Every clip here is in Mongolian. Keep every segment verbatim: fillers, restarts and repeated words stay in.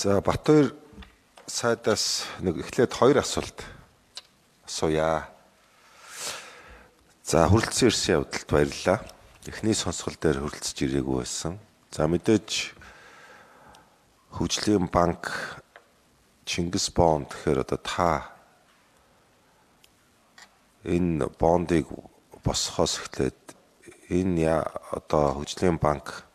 За Батбаяр сайдаас нэг эхлээд хоёр асуулт асууя. За хүрэлцэн ирсэн явдалд баярлалаа. Эхний сонсгол дээр хүрэлцэж ирээгүй байсан. За мэдээж хөгжлийн банк Чингис бонд гэхээр одоо та энэ бондыг босхоос эхлээд энэ одоо хөгжлийн банк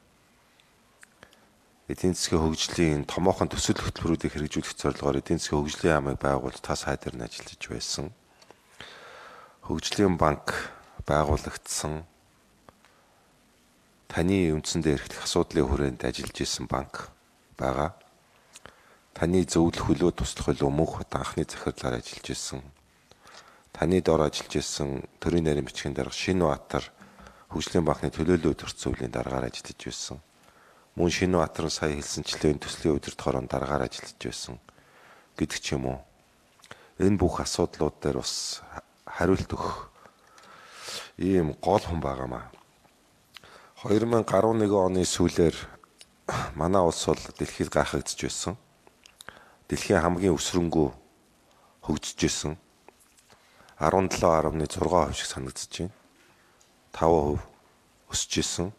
эдийн засгийн хөгжлийн томоохон төсөл хөтөлбөрүүдийг хэрэгжүүлэх зорилгоор эдийн засгийн хөгжлийн яамыг байгуулж та сай дээр нь ажиллаж байсан. Хөгжлийн банк байгуулагдсан таны үндсэндээ эрхлэх асуудлын хүрээнд ажиллаж исэн банк байгаа. Таны зөвлөх хөлөө туслах хөлөө мөнх хот анхны захирлаар ажиллаж исэн. Таны дор ажиллаж исэн төрийн нарийн бичгийн дарга Шинбаатар хөгжлийн банкны төлөөлөл өдөрцөвлийн даргаар ажиллаж байсан. Мөн Шинбаатар сая хэлсэнчлэн төслийн удирдах хорон даргаар ажиллаж байсан гэдэг ч юм уу. Энэ бүх асуудлууд дээр бас хариулт өгөх ийм гол хүн байгаамаа. хоёр мянга гаруй нэгэн оны сүүлээр манай улс бол дэлхийд гайхагдж байсан. Дэлхийн хамгийн өсрөнгөө хөгжиж байсан. арван долоо гаруй зураг хувь шиг санагдаж байна. таван хувь өсөж исэн.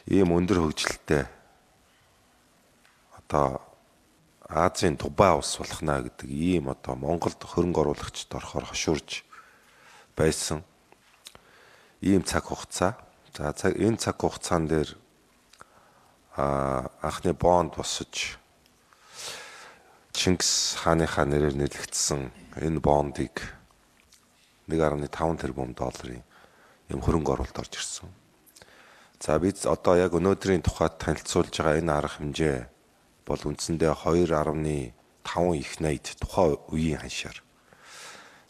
Ийм өндөр хөгжилтэй одоо Азийн Дубай улс болохна гэдэг ийм одоо Монголд хөрөнгө оруулагчд орохоор хошуурж байсан ийм цаг хугацаа. За энэ цаг хугацаан дээр а анхны бонд босож Чингис хааныхаа нэрээр нэлэгдсэн энэ бондыг нэг гаруй таван тэрбум долларын юм хөрөнгө оруулалт орж ирсэн. За бид одоо яг өнөөдрийн тухайд танилцуулж байгаа энэ арга хэмжээ бол үндсэндээ хоёр гаруй таван их найд тухайн үеийн ханшаар.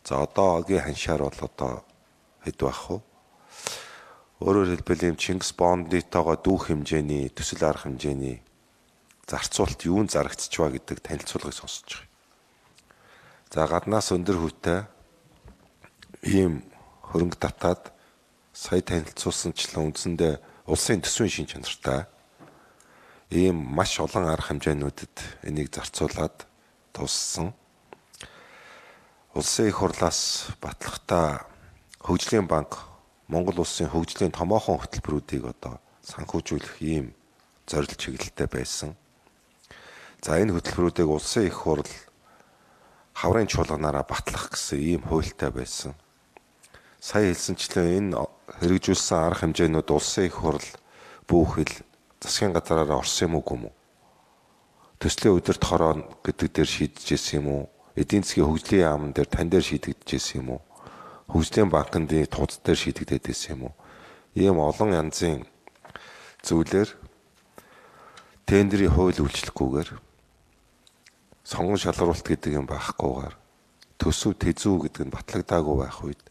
За одоогийн ханшаар бол одоо хэд байх вэ? Өөрөөр хэлбэл юм Чингис бондитойгоо дүүх хэмжээний төсөл арга хэмжээний зарцуулалт юунд зарагдчих ба гэдэг танилцуулгыг сонсож байгаа. За гаднаас өндөр хүүтэй ийм хөрөнгө татаад сая танилцуулсанчлан үндсэндээ улсын төсвийн шин чанартай ийм маш олон арга хэмжээнүүдэд энийг зарцуулаад туссан. Улсын их хурлаас батлахтаа хөгжлийн банк Монгол улсын хөгжлийн томоохон хөтөлбөрүүдийг одоо санхүүжүүлэх ийм зорилт чиглэлтэй байсан. За энэ хөтөлбөрүүдийг улсын их хурл хаврын чуулганаараа батлах гэсэн ийм хуультай байсан. Сая хэлсэнчлэн энэ хэрэгжүүлсэн арга хэмжээнүүд улсын их хурл бүхэл засгийн газараараа орсон юм уу? Төслийн удирдах хорон гэдэг дээр шийдэж ирсэн юм уу? Эдийн засгийн хөгжлийн яамн дээр тань дээр шийдэгдэж ирсэн юм уу? Хөгжлийн банкны тууц дээр шийдэгдээд ирсэн юм уу? Ийм олон янзын зүйлээр тендерийн хууль үйлчлэхгүйгээр сонгон шалгаруулалт гэдэг юм байхгүйгээр төсөв тэзүү гэдэг нь батлагдаагүй байх үед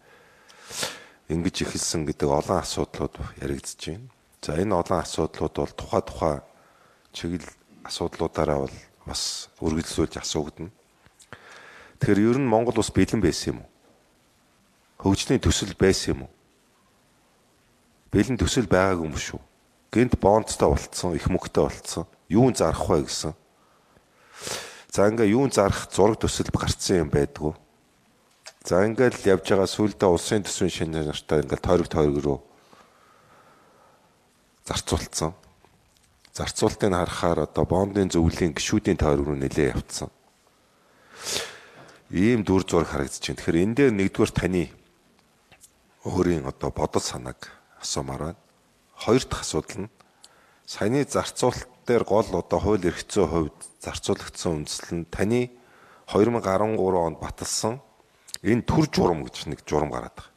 ингэж эхэлсэн гэдэг олон асуудлууд яригдж байна. За энэ олон асуудлууд бол тухай тухай чиглэл асуудлуудаараа бол бас үргэлжлүүлж асуугдана. Тэгэхээр ер нь Монгол улс бэлэн байсан юм уу? Хөгжлийн төсөл байсан юм уу? Бэлэн төсөл байгаагүй юм шүү. Гэнт бондтой болцсон, их мөнгөтэй болцсон. Юун зарах вэ гэсэн. За ингээ юун зарах зураг төсөл гарцсан юм байдгүй. За ингээл явж байгаа сүүлдээ улсын төсвийн шинэ нартай ингээл тойрог тойрог руу зарцуулсан. Зарцуултыг харахаар одоо бондын зөвлөлийн гишүүдийн тойрог руу нэлээ явцсан. Ийм дүр зураг харагдаж байна. Тэгэхээр энэ дээр нэгдүгээр таны өөрийн одоо бодол санааг асуумаар байна. Хоёр дахь асуудал нь саяны зарцуулалт дээр гол одоо хууль эрх зүйн хувьд зарцуулагдсан үндэслэл нь таны хоёр мянга гаруй гурван онд баталсан энэ төр журам гэж нэг журам гараад байгаа.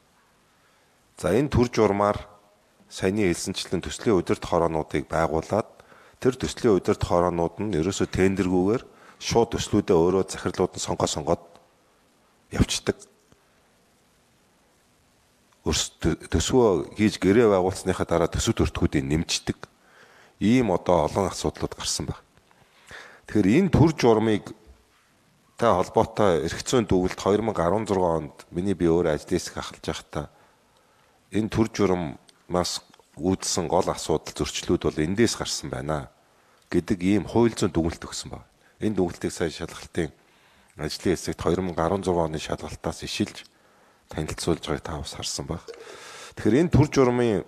За энэ төр журмаар саяны хэлсэнчлэн төслийн удирдах хороонуудыг байгуулад тэр төслийн удирдах хороонууд нь ерөөсөө тендергүүгээр шууд төслүүдээ өөрөө захирлууд нь сонгоо сонгоод явцдаг. Төсвөө хийж гэрээ байгуулсныхаа дараа төсөв төртгүүдийг нэмждэг. Ийм одоо олон асуудлууд гарсан байна. Тэгэхээр энэ төр журмыг та холбоотой эрх зүйн дүгнэлт хоёр мянга арван зургаан онд миний би өөр ажлын хэсэг ахалж байхдаа энэ төр журмаас үүдсэн гол асуудал зөрчлүүд бол эндээс гарсан байна гэдэг ийм хууль зүйн дүгнэлт өгсөн байна. Энэ дүгнэлтийг сая шалгалтын ажлын хэсэгт две тысячи десять оны шалгалтаас ишилж танилцуулж байгааг та бас харсан баг. Тэгэхээр энэ төр журмын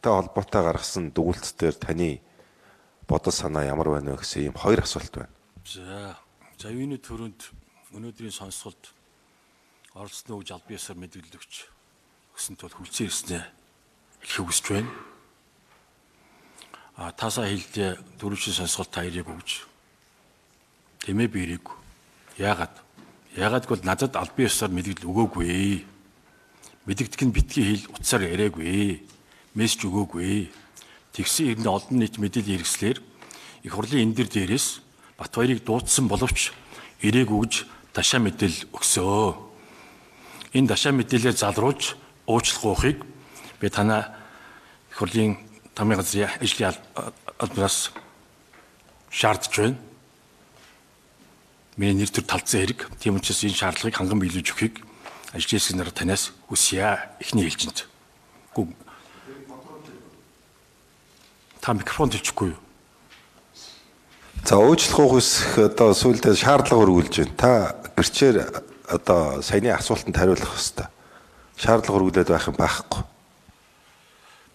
та холбоотой гаргасан дүгнэлтээр таны бодол санаа ямар байна вэ гэсэн ийм хоёр асуулт байна. За, за юуны төрөнд өнөөдрийн сонсголт оролцсны үж албан ёсоор мэдээлэл өгч өгсөн тул хүлцэн ирснэ хэлхийг хүсэж байна. А тасаа хэлдэ дөрөвчийн сонсголт та ирээгүй гэж. Тэмээ би ирээгүй. Яагаад? Яагаад гэвэл надад албан ёсоор мэдээлэл өгөөгүй. Мэддэгдэх нь битгий хэл утсаар яриаггүй. Мессеж өгөөгүй. Тэгсэн хэрнээ олон нийт мэдээлэл хэрэгслэр их хурлын энэ дэр дээрээс Батбаярыг дуудсан боловч ирээгүй гэж дашаа мэдээлэл өгсөө. Энэ дашаа мэдээлэлээр залруулж уучлах гоохыг би танаа их хурлын тамийн газрын ажлын албанаас шаардж байна. Миний нэр төр талцсан хэрэг. Тийм учраас энэ шаардлагыг ханган биелүүлж өгөхийг ажлын хэсэг нараа танаас хүсье эхний хэлжинд. Гүг. Та микрофон төлчихгүй юу? За уучлах ухс одоо сүүлдээ шаардлага өргүүлж байна. Та гэрчээр одоо саяны асуултанд хариулах хэрэгтэй. Шаардлага өргүүлээд байх юм байхгүй.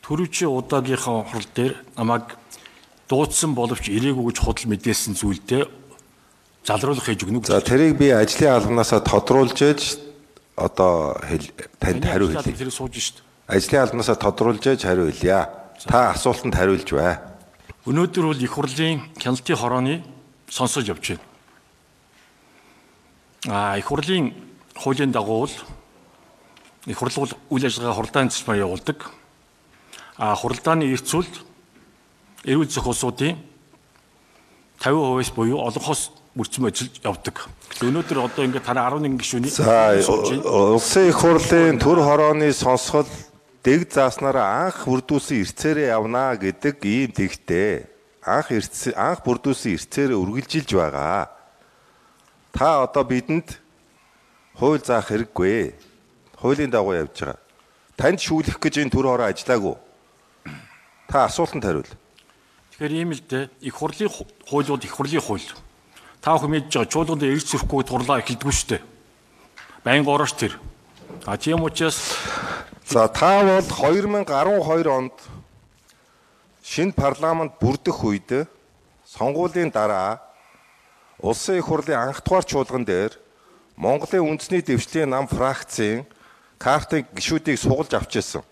Төрөвчийн удаагийнхаа хурал дээр намайг дуудсан боловч ирээгүй гэж худал мэдээлсэн зүйлдээ залруулах хийж өгнө. За тэрийг би ажлын албанаасаа тодруулж ээж одоо танд хариу хэлье. Тэр сууж шít. Ажлын албанаасаа тодруулж ээж хариу хэлье. Та асуултанд хариулж бай. Өнөөдөр бол их хурлын хяналтын хорооны сонсож явж байна. А их хурлын хуулийн дагуу их хурлын үйл ажиллагаа хуралдааны цэцмаар явуулдаг. А хуралдааны эрх зүйлд эрүүл зохиолсуудын фifty percent-ээс буюу олонхоос бүрдсэн ажиллаж явдаг. Өнөөдөр одоо ингээд танаа eleven гишүүний за улсын их хурлын төр хорооны сонсгол дэг зааснараа анх бүрдүүлсэн эрцээрээ явнаа гэдэг ийм тэгтээ анх эрц анх бүрдүүлсэн эрцээрээ үргэлжилж байгаа. Та одоо бидэнд хууль заах хэрэггүй. Хуулийн дагуу явж байгаа. Танд шүүлэх гэж энэ төр хороо ажиллаагүй. Та асуултанд хариул. Тэгэхээр ийм л дээ. Их хурлын хуулиуд их хурлын хууль. Та бүхэн мэдж байгаа чуулганд эрс зөрөхгүй турлаа эхэлдэггүй шүү дээ. Байнга орооч тэр. А тийм учраас за та бол two thousand twelve онд шинэ парламент бүрдэх үед сонгуулийн дараа улсын их хурлын анх дугаар чуулган дээр Монголын үндэсний дэвшлийн нам фракцийн картын гишүүдийг сугалж авч ирсэн.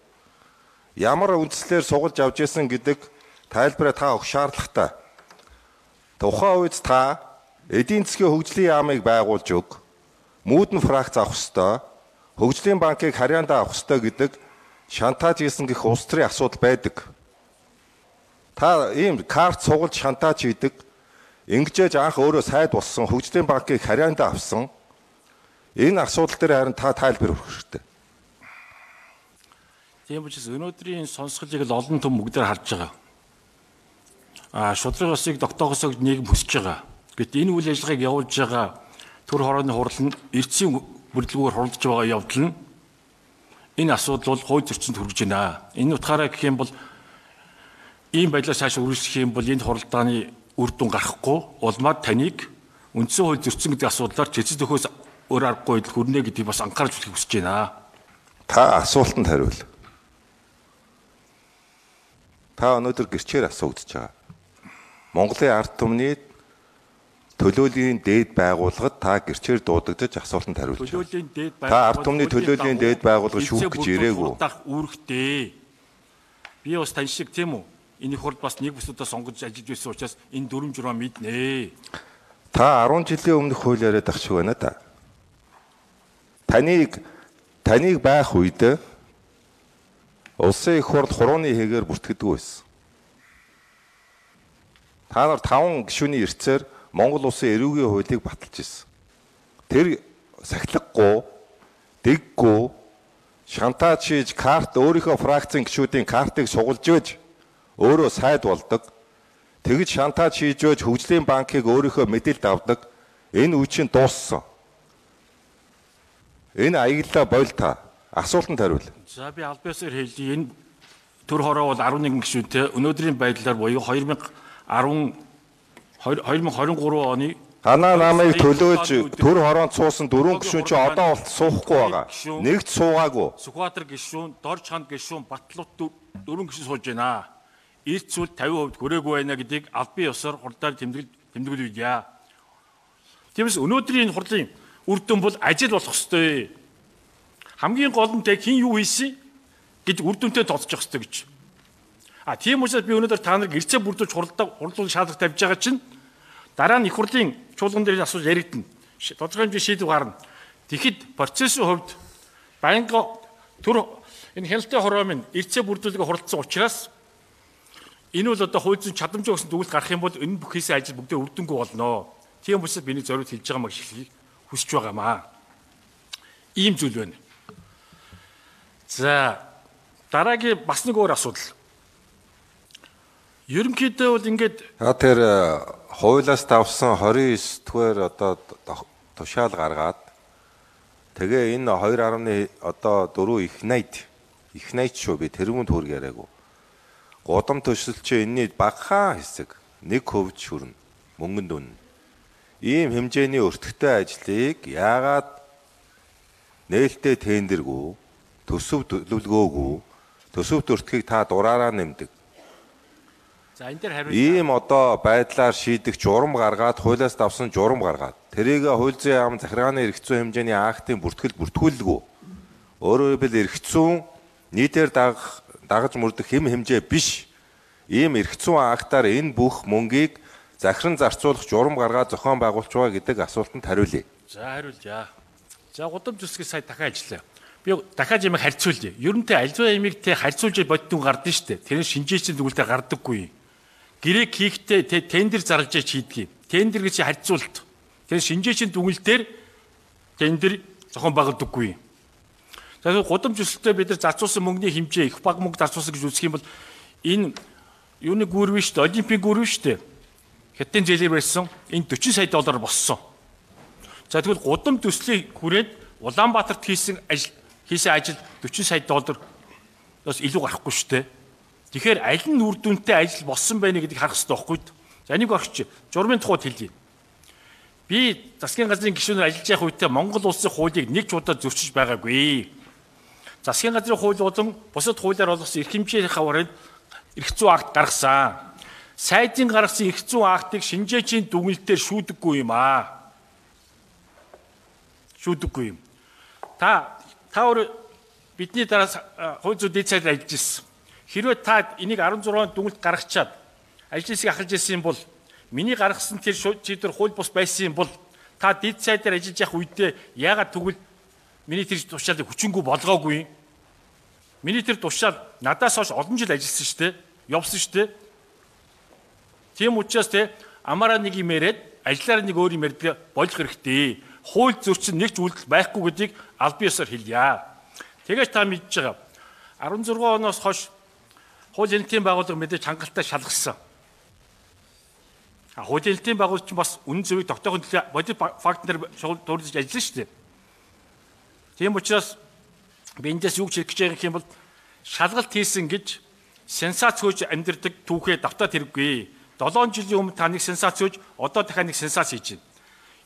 Ямар үндслээр сугалж авч ирсэн гэдэг тайлбараа та өгөх шаардлагатай. Тухайн үед та эдийн засгийн хөгжлийн яамыг байгуулж өг, мүүдэн фракц авах ёстой, хөгжлийн банкыг харьяандаа авах ёстой гэдэг шантаж хийсэн гэх улс төрийн асуудал байдаг. Та ийм карт сугалж шантаж хийдэг, ингэжээж анх өөрөө сайд болсон хөгжлийн банкыг харьяандаа авсан. Энэ асуудал дээр харин та тайлбар өгөх хэрэгтэй. Тийм учраас өнөөдрийн сонсголыг л олон том бүгдээр харж байгаа. А шудраг усыг тогтоохосоо нийгэм хүсэж байгаа. Гэвч энэ үйл ажиллагааг явуулж байгаа төр хорооны хурал нь эрчийн бүрдлгүүгээр хуралдаж байгаа явдал нь энэ асуудал бол хууль зөрчилд хүргэж байна. Энэ утгаараа гэх юм бол ийм байдлаар цааш үргэлжлэх юм бол энэ хуралдааны үр дүн гарахгүй улмаад таныг үндсэн хууль зөрчсөн гэдэг асуудлаар цэцэд өхөөс өөр аргагүй байдал хүрнэ гэдгийг бас анхаарч үзэх хүсэж байна. Та асуултанд хариул. Та өнөөдөр гэрчээр асуугдож байгаа. Монголын ард түмний төлөөллийн дээд байгууллагад та гэрчээр дуудагдаж асуултанд хариулж байна. Та ард түмний төлөөллийн дээд байгууллага шүүх гэж ирээгүй. Үүрэгтэй. Би бас тань шиг тийм үү? Энэ их хурд бас нэг бүсудаа сонгож ажиллаж байсан учраас энэ дүрм журмаа мэднэ. Та ten жилийн өмнөх хууль яриад ах шиг байна да. Таныг таныг байх үед улсын их хурд хурууны хэгээр бүртгэдэг байсан. Та нар таван гишүүний эрцээр Монгол улсын эрүүгийн хуулийг баталж ирсэн. Тэр сахилахгүй, дэггүй, шантаж хийж карт өөрийнхөө фракцийн гишүүдийн картыг сугалж байж өөрөө сайд болдог. Тэгж шантаж хийж байж хөгжлийн банкыг өөрийнхөө мэдээлэлд авдаг. Энэ үе чинь дууссан. Энэ аяглалаа бойл та. Асуултанд хариул. За би албан ёсоор хэлье. Энэ төр хороо бол eleven гишүүнтэй өнөөдрийн байдлаар буюу two thousand ten хоёр мың двадцать три оны Танаа намайг төлөөж төр хороонд суусан дөрвөн гишүүн чи одоо болт суухгүй байгаа. Нэгт суугаагүй. Сүхбаатар гишүүн, Дор чанд гишүүн, Батлууд дөрвөн гишүүн сууж байна. Эрт зүйл тавин хувьд хүрээгүй байна гэдгийг албан ёсоор хурдаар тэмдэглэл тэмдэглүүлье. Тиймээс өнөөдрийн энэ хурлын үр дүн бол ажил болох ёстой. Хамгийн гол нь тэг хин юу хийсэн гэж үр дүнтэй тооцох ёстой гэж. А тийм учраас би өнөөдөр та нарыг эрцээ бүрдүүлж хуралдаа хурлуулах шаардлага тавьж байгаа чинь дараа нь их хурлын чуулган дээр асууж яригдана. Тодорхой хэмжээ шийдвэр гарна. Тэгэхэд процессын хувьд байнга төр энэ хяналтын хороо минь эрцээ бүрдүүлгээ хуралдсан учраас энэ бол одоо хууль зүйн чадамжаа өгсөн дүгнэлт гарах юм бол энэ бүх хийсэн ажил бүгдээ үр дүнгүй болно. Тийм учраас биний зориуд хэлж байгаа маяг шилхийг хүсэж байгаамаа. Ийм зүйл байна. За дараагийн бас нэг өөр асуудал. Ерөнхийдөө бол ингээд тэр хуулиас давсан двадцать девять дугаар одоо тушаал гаргаад тэгээ энэ two point одоо four их найд их найд шүү би тэрүүн төр яриаггүй. Гудам төсөл чи энэний багахан хэсэг нэг хувьд шүрнэ мөнгөнд дүн. Ийм хэмжээний өртөгтэй ажлыг яагаад нээлттэй тендергүй төсөв төлөвлөгөөгүй төсөвт өртгийг та дураараа нэмдэг. За энэ дээр хариулт ийм одоо байдлаар шийдэх журам гаргаад хуулиас давсан журам гаргаад тэрийг хууль зүйн яам захиргааны эрх зүйн хэмжээний актын бүртгэл бүртгүүлэлгүй. Өөрөөр хэлбэл эрх зүйн нийтээр дагах дагаж мөрдөх хэм хэмжээ биш. Ийм эрх зүйн актаар энэ бүх мөнгийг захиран зарцуулах журам гаргаад зохион байгуулж байгаа гэдэг асуултанд хариулъя. За хариулъя. За гудам төсгийг сая дахиад ажиллаа. Би дахиад ямиг харьцуулъя. Ерөнтэй альва ямиг те харьцуулж боддон гардсан шүү дээ. Тэр шинжээчийн дүгнэлтээр гардаггүй. Гэрэг хийхдээ тендер зарлаж хийдгийг. Тендер гэж харьцуулт. Тэр шинжээчийн дүгнэлтээр тендер зохион байгуулдаггүй. За гудам төсөлтөд бид нар зарцуулсан мөнгөний хэмжээ их баг мөнгө зарцуулсан гэж үзэх юм бол энэ юуны гүрвэ шүү дээ. Олимпийн гүрвэ шүү дээ. Хятадын зээлээр барьсан энэ forty сая доллар боссон. За тэгвэл гудам төслийг хүрээд Улаанбаатарт хийсэн ажил хийсэн ажил forty сая доллар бас илүү гарахгүй шүү дээ. Тэгэхээр аль нь үр дүнтэй ажил болсон байна гэдгийг харах хэрэгтэй байхгүй. За энийг орч журмын тухайд хэлье. Би засгийн газрын гишүүнээр ажиллаж байх үедээ Монгол улсын хуулийг нэг ч удаа зөрчиж байгаагүй. Засгийн газрын хууль болон бусад хуулиар олгосон эрх хэмжээний хаврын эрх зүйн акт гаргасан. Сайдын гаргасан эрх зүйн актыг шинжээчийн дүгнэлтээр шүүдэггүй юм аа. Шүүдэггүй юм. Та та өөр бидний дараа хууль зүйн дэд сайдаар ажиллаж ирсэн. Хэрвээ та энийг sixteen дүгнэлт гаргачаад ажил хэсгийг ахалж ирсэн бол миний гаргасан тэр шийдвэр хууль бус байсан юм бол та дэд сайдаар ажиллаж явах үедээ яагаад тэгвэл миний тэр тушаалыг хүчингүй болгоогүй. Миний тэр тушаал надаас хойш олон жил ажилласан шүү дээ. Явсан шүү дээ. Тийм учраас те амаараа нэг юм яриад ажлаараа нэг өөр юм ярьдаг болох хэрэгтэй. Хууль зөрчин нэг ч үйлдэл байхгүй гэдгийг албан ёсоор хэлье. Тэгэж та мэдж байгаа. sixteen оноос хойш хуулийн хэлтийн байгууллага мэдээж хангалттай шалгасан. А хуулийн хэлтийн байгууллагч бас үнэн зөвийг тогтоохын төлөө бодит фактээр дурдж ажиллана шүү дээ. Тийм учраас би эндээс юу гэж хэлэх гэж байгаа юм бол шалгалт хийсэн гэж сенсац хөөж амьдрдаг түүхээ давтаад хэрэггүй. seven жилийн өмнө та нэг сенсац хөөж одоо дахиад нэг сенсац хийж байна.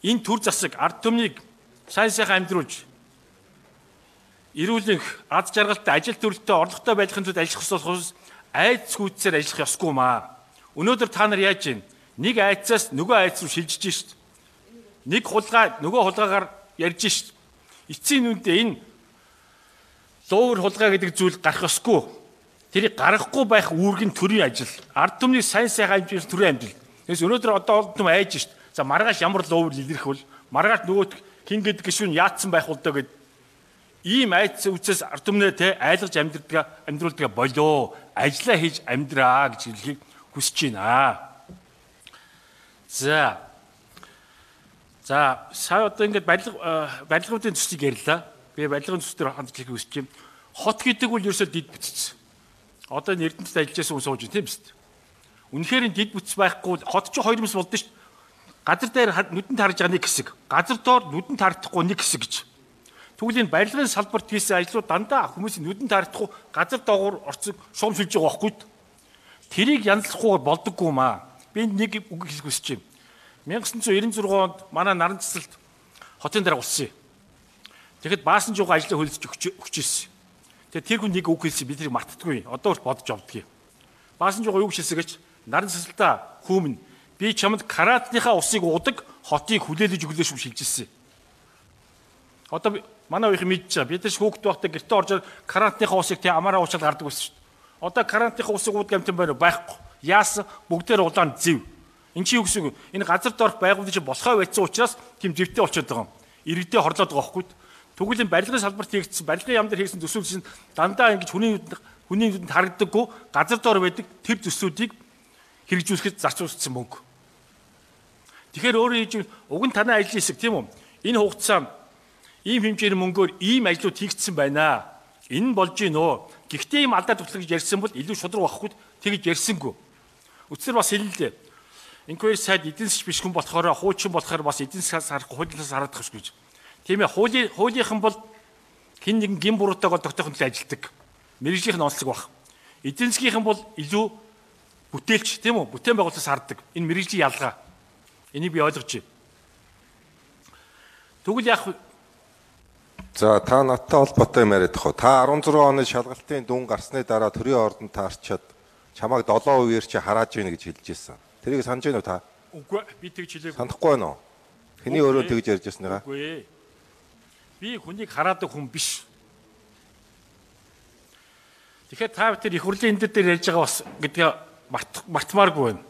Энэ төр засаг ард түмнийг сайн сайхан амьдруулж эрүүлэнх аз жаргалтай ажил төрөлтөй орлоготой байхын тулд ажиллах ёсоос айц хүчээр ажиллах ёсгүй маа. Өнөөдөр та нар яаж байна? Нэг айцаас нөгөө айц руу шилжиж шít. Нэг хулгай нөгөө хулгайгаар ярьж шít. Эцсийн нүдээ энэ луур хулгай гэдэг зүйл гарах ёсгүй. Тэрийг гаргахгүй байх үүргийн төрийн ажил. Ард түмний сайн сайхан амжилт төрийн амжилт. Тэгээс өнөөдөр одоо олдсон айж шít. За маргааш ямар луур илэрх вэ? Маргааш нөгөө хин гэдэг гişүүн яатсан байх бол доо гэд ийм айц үцээс ард түмнээ те айлгаж амьдрдаг амьдруулдаг болоо. Ажлаа хийж амьдраа гэж хэлхийг хүсэж байна. За. За, сая одоо ингээд барилга барилгуудын төслийг ярьлаа. Би барилгын төс дээр хандж хэлхийг хүсэж байна. Хот гэдэг үл ерөөсөө дид бүтц. Одоо энэ Эрдэнэтэд ажиллаж байсан хүн сууж байна тийм биз? Үнэхээр энэ дид бүтц байхгүй хот ч хоёр юмс болдсон шүү дээ. Газар дээр нүдэнд харж байгаа нэг хэсэг, газар доор нүдэнд харагдахгүй нэг хэсэг гэж. Тэгвэл энэ барилгын салбарт хийсэн ажлууд дандаа хүмүүсийн нүдэнд харагдахгүй газар доогуур орцог шуум шилж байгаа байхгүй. Тэрийг янзлахгүй болдоггүй маа. би нэг үг хэлэх хүсэж байна. 천구 девяносто шесть онд манай наран цэцэлд хотын дараа улсан. Тэгэхэд баасан жуугаа ажлаа хөлдөж өгч ирсэн. Тэгээ тэр хүн нэг үг хэлсэн би тэрийг мартдаггүй. Одоо ч бодож авдгийг. Баасан жуугаа юу хэлсэн гэж наран цэцэлдээ хүмүн би чамд каратныхаа усыг уудаг хотыг хүлээлж өглөөш юм шилжүүлсэн. Одоо манай уух мэдж байгаа. Бид нар хүүхэд байхдаа гэртээ орж карантныхаа усыг тий амаараа уучаад гардаг байсан шүү дээ. Одоо карантныхаа усыг уудаг амтан байна уу? Байхгүй. Яасан? Бүгдээр улаан зэв. Энд чи юу гэсэн үг? Энэ газар доорх байгууллагын чинь болохоо байцсан учраас тийм зэвтэй болчиход байгаа юм. Иргэдээ хорлоод байгаа байхгүй. Тэгвэл энэ барилгын салбарт хийгдсэн, барилгын яам дээр хийгдсэн төсвөл чинь дандаа ингэж хүний хүний нүдэнд харагддаггүй газар доор байдаг тэр төслүүдийг хэрэгжүүлэхэд зарцуулсан мөнгө. Тэгэхээр өөрөөр хэлбэл уг нь танай ажлын хэсэг тийм үү? Энэ хугацаанд ийм хэмжээний мөнгөөр ийм ажлууд хийгдсэн байна. Энэ нь болж гин үү? Гэхдээ ийм алдаа тутлах гэж ярьсан бол илүү шудраг байхгүй тэгж ярьсангүй. Үцэр бас хэллээ. Инquiry сайд эдийн засгийн биш хүн болохоор хуучин болохоор бас эдийн засгаас харахгүй хуулиас хараад тахш гэж. Тийм ээ хуулийн хуулийнхан бол хэн нэгэн гин буруутайгаа тогтоохын төлөө ажилдаг. Мэргэжлийн онцлог баг. Эдийн засгийнхан бол илүү бүтээлч тийм үү? Бүтээн байгуулалтаас харддаг. Энэ мэргэжлийн ялгаа. Энийг би ойлгож байна. Тэгвэл яг за та надтай холбоотой юм яриад тах. Та арван зургаан оны шалгалтын дүн гарсны дараа төрийн ордонд таарчаад чамайг долоо үеэр чи харааж ийн гэж хэлж ирсэн. Тэрийг санаж байна уу та? үгүй би тэгж хэлээгүй. Санахгүй байна уу? Хэний өөрөө тэгж ярьж ирсэнийга? Үгүй. Би хүнийг хараадаг хүн биш. Тэгэхээр та бүхэн их хурлын эндэд дээр ярьж байгаа бас гэдгээ мартмааргүй байна.